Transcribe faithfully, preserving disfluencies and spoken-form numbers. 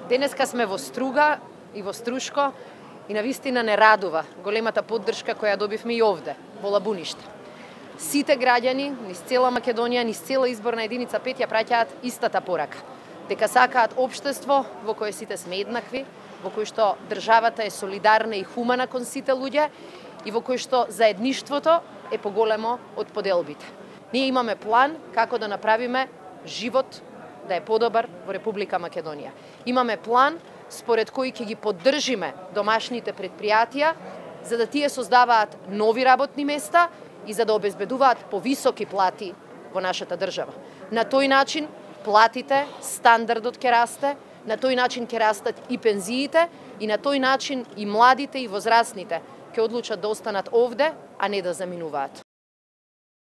Денеска сме во Струга и во Струшко и навистина не радува големата поддршка која добивме и овде, во Лабуниште. Сите граѓани, низ цела Македонија, низ цела изборна единица пет ја праќаат истата порака. Дека сакаат општество во кое сите сме еднакви, во кој што државата е солидарна и хумана кон сите луѓе и во кој што заедништвото е поголемо од поделбите. Ние имаме план како да направиме живот да е подобар во Република Македонија. Имаме план според кој ќе ги поддржиме домашните предпријатија за да тие создаваат нови работни места и за да обезбедуваат повисоки плати во нашата држава. На тој начин платите, стандардот ќе расте, на тој начин ќе растат и пензиите и на тој начин и младите и возрастните ќе одлучат да останат овде, а не да заминуваат.